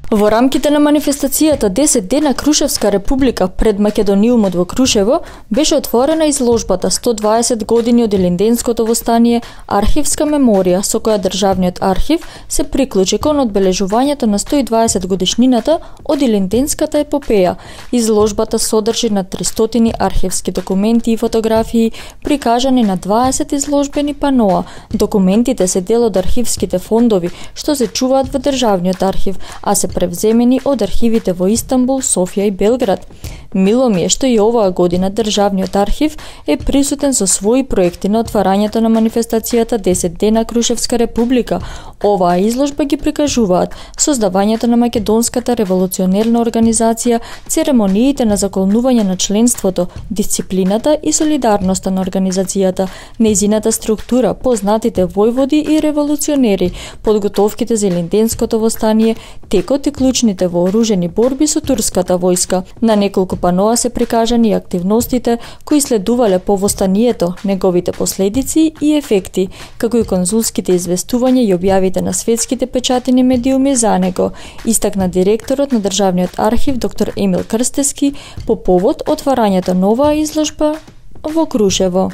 Во рамките на манифестацијата 10 дена Крушевска република пред Македониумот во Крушево беше отворена изложбата 120 години од Илинденското востание, архивска меморија со која Државниот архив се приклучи кон одбележувањето на 120 годишнината од Илинденската епопеја. Изложбата содржи на 300 архивски документи и фотографии, прикажани на 20 изложбени паноа. Документите се дел од архивските фондови што се чуваат во Државниот архив, а се превземени од архивите во Истанбул, Софија и Белград. Мило ми е што и оваа година Државниот архив е присутен со своји проекти на отварањето на манифестацијата 10 дена Крушевска република. Оваа изложба ги прикажуваат создавањето на македонската револуционерна организација, церемониите на заколнување на членството, дисциплината и солидарноста на организацијата, нејзината структура, познатите војводи и револуционери, подготовките за Илинденското востание, текот и клучните вооружени борби со турската војска. На неколку паноа се прикажани активностите кои следувале по востанието, неговите последици и ефекти, како и конзулските известувања и објавите на светските печатени медиуми за него, истакна директорот на Државниот архив доктор Емил Крстевски по повод отварањето на оваа изложба во Крушево.